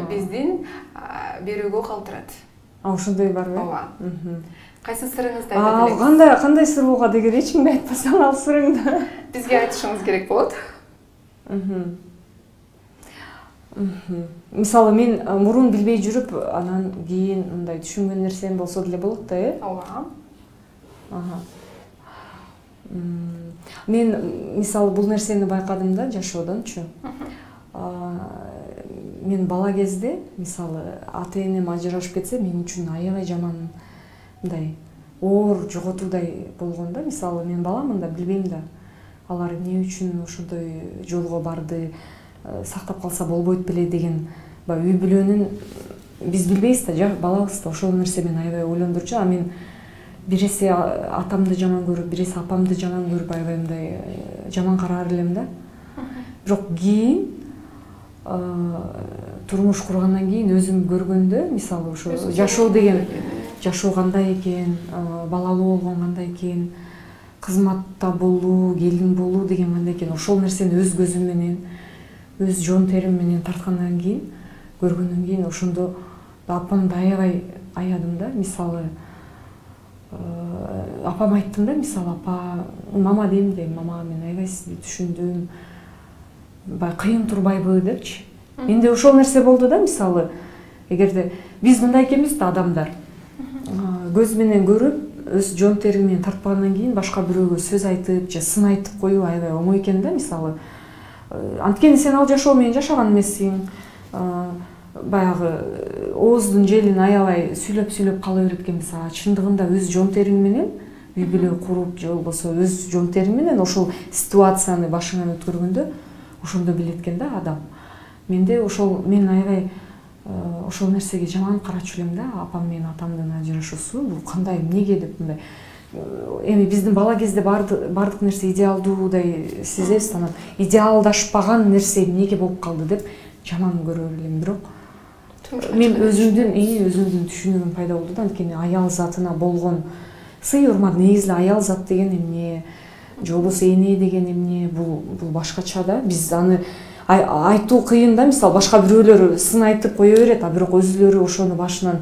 [SPEAKER 1] биздин берүүгө калтырат.
[SPEAKER 2] Ошондой барбы?
[SPEAKER 1] Ооба. Кайсы сырыңызды айтат элеңиз?
[SPEAKER 2] Кандай сыр болгон эгер эч кимге айтпасаң ал сырыңды
[SPEAKER 1] бизге айтышыңыз керек болот.
[SPEAKER 2] Мисалы мен мурун билбей жүрүп, анан кийин мындай түшүнгөн нерсем болсо деле болот да, э?
[SPEAKER 1] Ооба.
[SPEAKER 2] Мен мисалы бул нерсени байкадым да жашоодончу. Мен бала кезде мисалы ата-энем ажырашып кетсе, мен үчүн аябай жаман мындай оор жоготуудай болгон да. Мисалы мен баламын да, билбейм да. Алар эмне үчүн ошондой жолго барды, сактап калса болбойт беле деген үй бүлөнүн биз билбейбиз да, балабыз да. Ошол нерсе мени аябай ойлондурчу. А мен биресе атамды жаман көрүп, биресе апамды жаман көрүп аябай мындай жаман караар элем да. Бирок кийин турмуш кургандан кийин өзүм көргөндө, мисалы ошо жашоо деген жашоо кандай экен, балалуу болгон кандай экен, кызматта болуу, келин болуу деген кандай экен, ошол нерсени өз көзүм менен, өз жон терим менен тарткандан кийин, көргөндөн кийин ошондо апамды аябай аядым да. Мисалы апам айттым да, мисалы апа, мама дейм, мама мен аябай сизди түшүндүм, баягы кыйын турбайбы депчи. Менде ошол нерсе болду да, мисалы эгерде биз мындай экенбиз да, адамдар көз менен көрүп, өз жон терим менен тартпагандан кийин башка бирөөгө сөз айтып же сын айтып коюу аябай оңой экен да. Мисалы анткени сен ал жашоо менен жашаган эмессиң, баягы ооздун желин аябай сүйлөп кала берет экенбиз. Чындыгында өз жон терим менен үй бүлө куруп же болбосо өз жон терим менен ошол ситуацияны башыңан өткөргөндө ошондо билет экен да адам. Менде ошол, мен аябай ошол нерсеге жаман карачу элем да. Апам менен атамдын ажырашуусу бул кандай, эмнеге деп мындай. Эми биздин бала кезде бардык нерсе идеалдуудай сезебиз, анан идеалдашпаган нерсе эмнеге болуп калды деп жаман көрөр элем. Бирок мен өзүмдүн түшүнүгүм пайда болду да. Анткени аял затына болгон сый урмат, негизи аял зат деген эмне, же болбосо эне деген эмне, бул башкача да. Биз аны айтуу кыйын да. Мисалы башка бирөөлөр сын айтып кое берет, бирок өзүлөрү ошону башынан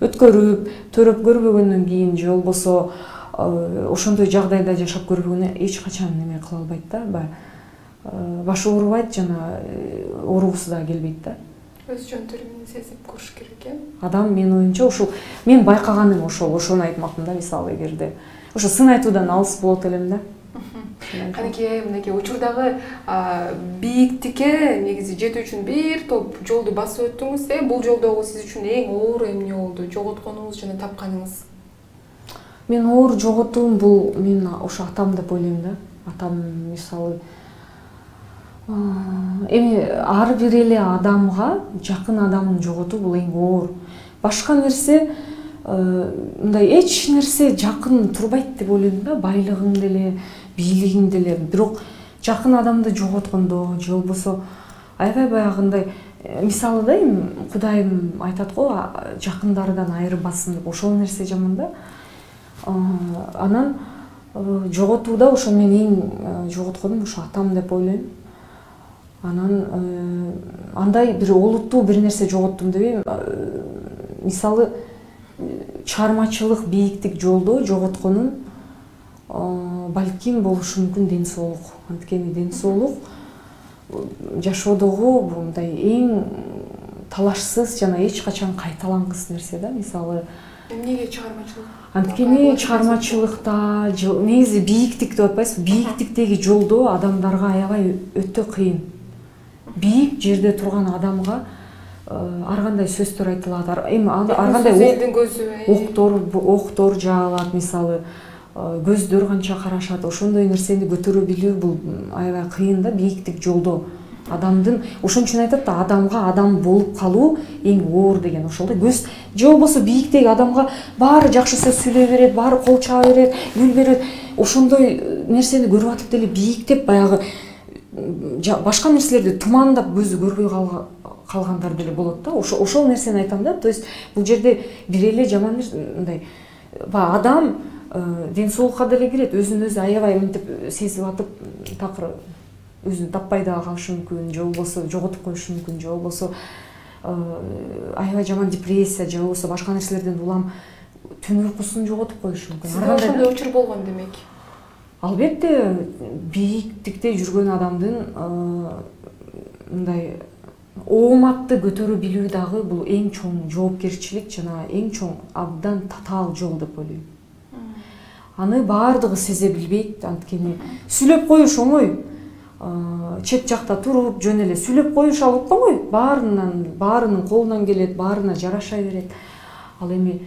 [SPEAKER 2] өткөрүп, төрөп көрбөгөндөн кийин же болбосо ошондой жагдайда жашап көрбөгөндөн эч качан неме кыла албайт да. Башы оорубайт, жана ооругусу да келбейт да.
[SPEAKER 1] Өз жон теримин сезип көрүш керек экен.
[SPEAKER 2] Адам, менин оюмча, ошол мен байкаганым ошону айтмакмын да. Мисалы эгерде ошо сын айтуудан алыс болот элем да.
[SPEAKER 1] Канекей, мынакей учурдагы бийиктикке негизи жетүү үчүн бир топ жолду басып өттүңүз. Бул жолдогу сиз үчүн эң оор эмне болду? Жоготконуңуз жана тапканыңыз?
[SPEAKER 2] Мен оор жоготуум бул мен ошо атам деп ойлойм да. Атам мисалы эми ар бир эле адамга жакын адамын жоготуу бул эң оор. Башка нерсе мындай эч нерсе жакын турбайт деп ойлойм да. Байлыгың деле, бийлигиң деле. Бирок жакын адамды жоготкондо же болбосо аябай баягындай, мисалы да, эми Кудайым айтат го, жакындардан айырбасын деп. Ошол нерсе жаман да. Анан жоготууда ошо мен эң жоготконум ошо атам деп ойлойм. Анан андай бир олуттуу бир нерсе жоготтум дебейм. Мисалы чыгармачылык, бийиктик жолдо жоготконум балким болушу мүмкүн ден соолук. Анткени ден соолук жашоодогу мындай эң талашсыз жана эч качан кайталангыс нерсе да. Мисалы
[SPEAKER 1] эмнеге чыгармачылык?
[SPEAKER 2] Анткени чыгармачылыкта, негизи бийиктик деп атпайсызбы? Бийиктиктеги жолдо адамдарга аябай өтө кыйын. Бийик жерде турган адамга ар кандай сөздөр айтылат. Эми ар кандай октор жаалат, мисалы көздөр канча карашат. Ошондой нерсени көтөрө билүү бул аябай кыйын да, бийиктик жолдо. Адамдын ошон үчүн айтат да, адамга адам болуп калуу эң оор деген ошол да. Көз же болбосо бийиктеги адамга баары жакшы сөз сүйлөй берет, баары кол чаба берет, гүл берет. Ошондой нерсени көрүп атып деле бийиктеп баягы башка нерселерди тумандап көзү көрбөй калгандар деле болот да. Ошол нерсени айтам да. То есть бул жерде бир эле жаман мындай адам ден соолукка деле кирет, өзүн өзү аябай мынтип сезип атып такыр өзүн таппай да калышы мүмкүн, же болбосо жоготуп коюшу мүмкүн, же болбосо аябай жаман депрессия, же болбосо башка нерселерден улам түн уйкусун жоготуп коюшу мүмкүн.
[SPEAKER 1] Сизде ошондой учур болгон демек?
[SPEAKER 2] Албетте, бийиктикте жүргөн адамдын мындай ооматты көтөрө билүү дагы бул эң чоң жоопкерчилик жана эң чоң абдан татаал жол деп ойлойм. Аны баардыгы сезе билбейт, анткени сүйлөп коюш оңой. Чет жакта туруп, жөн эле сүйлөп коюш ал оңой. Баарынын колунан келет, баарына жараша берет. Ал эми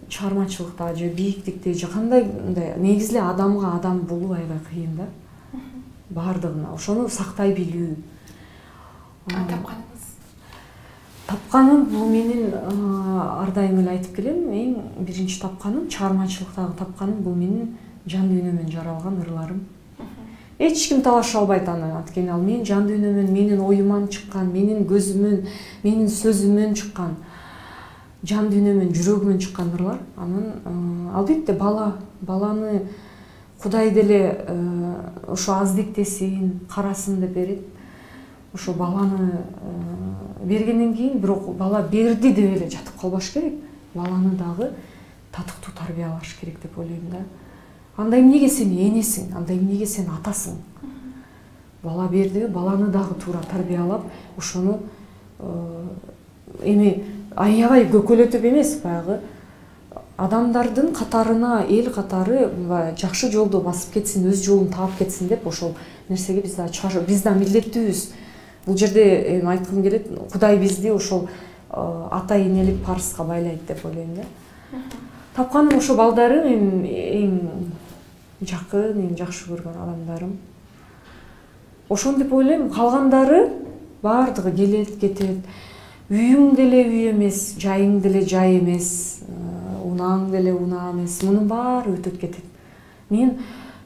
[SPEAKER 2] чыгармачылыкта же бийиктикте же кандай мындай негизи адамга адам болуу аябай кыйын да. Баардыгына ошону сактай билүү.
[SPEAKER 1] Тапканыңыз?
[SPEAKER 2] Тапканым бул менин ар дайым эле айтып келем, эң биринчи тапканым, чыгармачылыктагы тапканым бул менин жан дүйнөмөн жаралган ырларым. Эч ким талаша албайт аны, анткени ал менин жан дүйнөмөн, менин оюман чыккан, менин көзүмөн, менин сөзүмөн чыккан. жан дүйнөмөн жүрөгүмөн чыккан ырлар. Анан албетте баланы Кудай деле ошо аздиктесин, карасын деп берет. Ошо баланы бергенден кийин бирок бала берди деп эле жатып калбаш керек. Баланы дагы татыктуу тарбиялаш керек деп ойлойм да. Анда эмнеге сен энесиң, анда эмнеге сен атасың? Бала берди, баланы дагы туура тарбиялап, ошону эми аябай көкөлөтүп эмес, баягы адамдардын катарына, эл катары жакшы жолду басып кетсин, өз жолун таап кетсин деп ошол нерсеге биз да милдеттүүбүз. Бул жерде айткым келет, Кудай бизди ошол ата энелик парызга байлайт деп ойлойм да. Тапканым ошо балдарым, эң жакын, эң жакшы көргөн адамдарым. Ошон деп ойлойм, калгандары баардыгы келет, кетет. Үйүң деле үй эмес, жайың деле жай эмес, унааң деле унаа эмес. Мунун баары өтүп кетет. Мен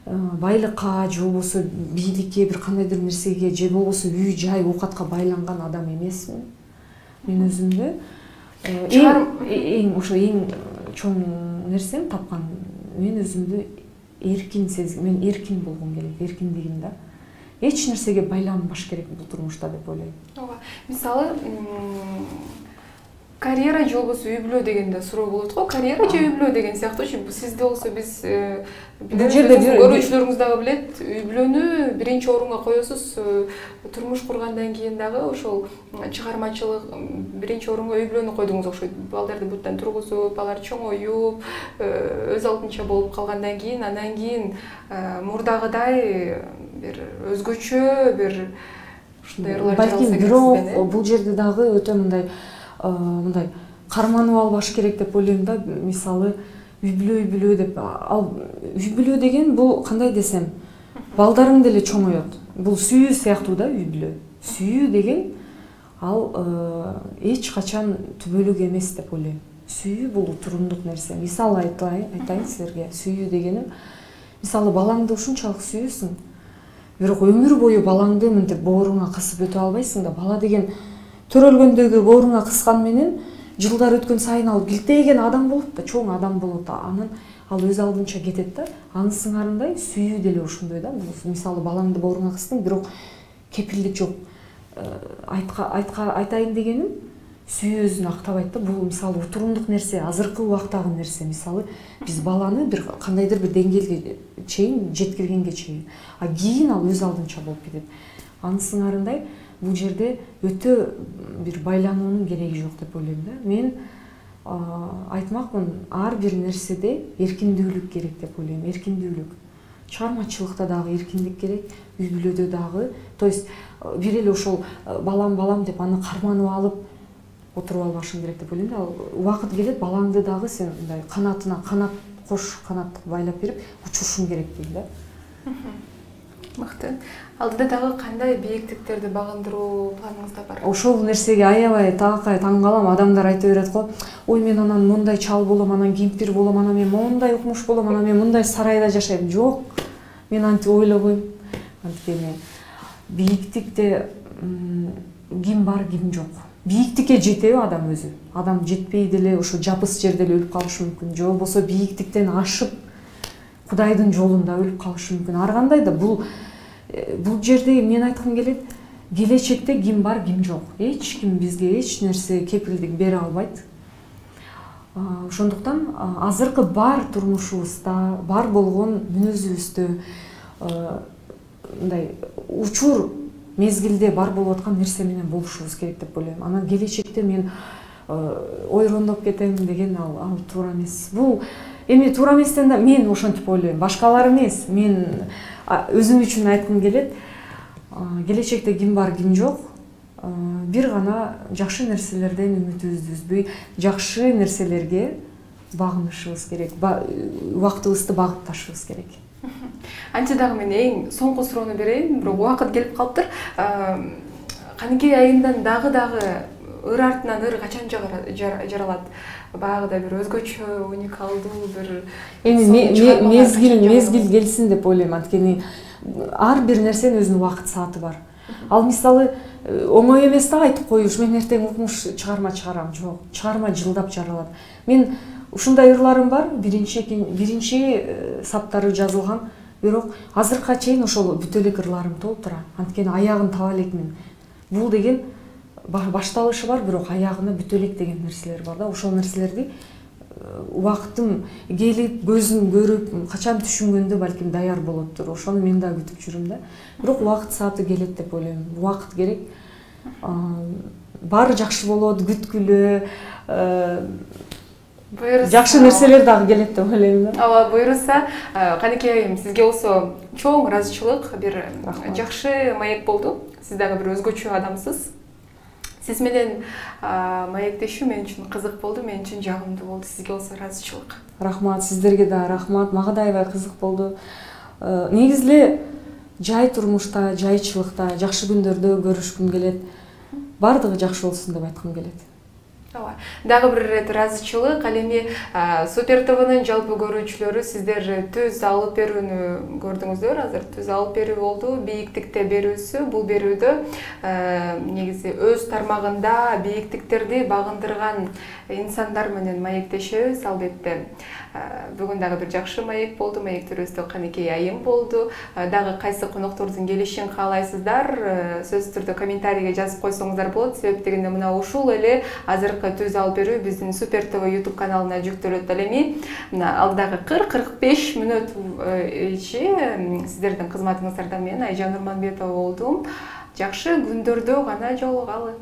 [SPEAKER 2] байлыкка же болбосо бийликке, бир кандайдыр нерсеге же болбосо үй жай оокатка байланган адам эмесмин. Мен өзүмдү эң ошо эң чоң нерсем тапкан, мен өзүмдү эркин сезгим, мен эркин болгум келет, эркиндигим да. Эч нерсеге байланбаш керек бул турмушта деп ойлойм.
[SPEAKER 1] Ооба. Мисалы, карьера же болбосо үй бүлө дегенде суроо болот го. Карьера же үй бүлө деген сыяктуу. Сизде болсо биз бул жерде көрүүчүлөрүңүз дагы билет, үй бүлөнү биринчи орунга коесуз. Турмуш кургандан кийин дагы ошол чыгармачылык биринчи орунга үй бүлөнү койдуңуз окшойт. Балдарды буттан тургузуп, алар чоңоюп, өз алдынча болуп калгандан кийин, андан кийин мурдагыдай бир өзгөчө бир ушундай ырлар
[SPEAKER 2] балким, бирок бул жерде дагы өтө мындай карманып албаш керек деп ойлойм да. Мисалы, үй бүлө деп, ал үй бүлө деген бул кандай десем, балдарың деле чоңоет. Бул сүйүү сыяктуу да үй бүлө. Сүйүү деген ал эч качан түбөлүк эмес деп ойлойм. Сүйүү бул турумдук нерсе. Мисал айтайын силерге. Сүйүү дегеним, мисалы балаңды ушунчалык сүйөсүң, бирок өмүр бою балаңды мынтип бооруңа кысып өтө албайсың да. Бала деген төрөлгөндөгү бооруңа кыскан менен жылдар өткөн сайын ал килтейген адам болот да, чоң адам болот. Анан ал өз алдынча кетет да. Анын сыңарындай сүйүү деле ошондой да. Мисалы балаңды бооруңа кыстың, бирок кепилдик жок. Айтайын дегеним, сүйүү өзүн актабайт да. Бул мисалы утурумдук нерсе, азыркы убактагы нерсе. Мисалы, биз баланы бир кандайдыр бир деңгээлге чейин жеткиргенге чейин, а кийин ал өз алдынча болуп кетет. Анын сыңарындай бул жерде өтө бир байлануунун кереги жок деп ойлойм да. Мен айтмакмын, ар бир нерседе эркиндүүлүк керек деп ойлойм. Эркиндүүлүк. Чыгармачылыкта дагы эркиндик керек, үй бүлөдө дагы. То есть бир эле ошол балам деп аны карманып алып отуруп албашың керек деп ойлойм да. Убакыт келет, балаңды дагы сен мындай канатына кош канат байлап берип учурушуң керек дейм да.
[SPEAKER 1] Мыкты. Алдыда дагы кандай бийиктиктерди багындыруу планыңызда бар?
[SPEAKER 2] Ошол нерсеге аябай таң калам. Адамдар айта берет го, ой мен анан мондай чал болом, анан кемпир болом, анан мен мондай укмуш болом, анан мен мындай сарайда жашайм. Жок, мен антип ойлобойм. Анткени бийиктикте ким бар, ким жок. Бийиктикке жетеби адам өзү? Адам жетпей деле ошо жапыс жерде эле өлүп калышы мүмкүн. Же болбосо бийиктиктен ашып Кудайдын жолунда өлүп калышы мүмкүн. Ар кандай да бул жерде мен айткым келет, келечекте ким бар, ким жок. Эч ким бизге эч нерсе кепилдик бере албайт. Ошондуктан азыркы бар турмушубузда, бар болгон мүнөзүбүздө мындай учур мезгилде бар болуп аткан нерсе менен болушубуз керек деп ойлойм. Анан келечекте мен ойрондоп кетем деген ал туура эмес. Бул эми туура эместен да мен ошентип ойлойм. Башкалар эмес, мен өзүм үчүн айткым келет. Келечекте ким бар, ким жок. Бир гана жакшы нерселерден үмүтүбүздү үзбөй, жакшы нерселерге багынышыбыз керек. Убактыбызды багытташыбыз керек.
[SPEAKER 1] Анча дагы мен эң соңку суроону берейин, бирок убакыт келип калыптыр. Каныкей айындан дагы ыр артынан ыр качан жаралат? Баягыда бир өзгөчө, уникалдуу бир
[SPEAKER 2] мезгил келсин деп ойлойм. Анткени ар бир нерсенин өзүнүн убакыт сааты бар. Ал мисалы оңой эмес да айтып коюш, мен эртең укмуш чыгарма чыгарам. Жок, чыгарма жылдап жаралат. Мен ушундай ырларым бар, биринчи саптары жазылган, бирок азыркыга чейин ошол бүтө элек ырларым толтура. Анткени аягын таба элекмин. Бул деген башталышы бар, бирок аягына бүтө элек деген нерселер бар да. Ошол нерселерди убакытым келип, көзүм көрүп, качан түшүнгөндө балким даяр болоттур. Ошону мен да күтүп жүрүм да. Бирок убакыт сааты келет деп ойлойм. Убакыт керек. Баары жакшы болот, күткүлө. Жакшы нерселер дагы келет деп ойлойм да.
[SPEAKER 1] Ооба, буйруса, Канекей айым, сизге болсо чоң ыраазычылык, бир жакшы маек болду. Сиз дагы бир өзгөчө адамсыз. Сиз менен маектешүү мен үчүн кызык болду, мен үчүн жагымдуу болду. Сизге болсо ыраазычылык.
[SPEAKER 2] Рахмат, сиздерге да рахмат. Мага да аябай кызык болду. Негизи эле жай турмушта, жайчылыкта, жакшы күндөрдө көрүшкүм келет. Бардыгы жакшы болсун деп айткым келет.
[SPEAKER 1] Ооба. Дагы бир ирет ыраазычылык. Ал эми Супер ТВнын жалпы көрүүчүлөрү сиздер түз алып берүүнү көрдүңүздөр. Азыр түз алып берүү болду. Бийиктикте берүүсү. Бул берүүдө негизи өз тармагында бийиктиктерди багындырган инсандар менен маектешебиз. Албетте бүгүн дагы бир жакшы маек болду. Маектөрүбүздө Канекей айым болду. Дагы кайсы коноктордун келишин каалайсыздар? Сөзсүз түрдө комментарийге жазып койсоңуздар болот. Себеп дегенде мына ушул эле азыр түз алып берүү биздин Супер ТВ YouTube каналына жүктөлөт. Ал эми мына алдагы 40-45 мүнөт ичи сиздердин кызматыңыздарда мен Айжан Нурманбетова болдум. Жакшы күндөрдө гана жолугалы.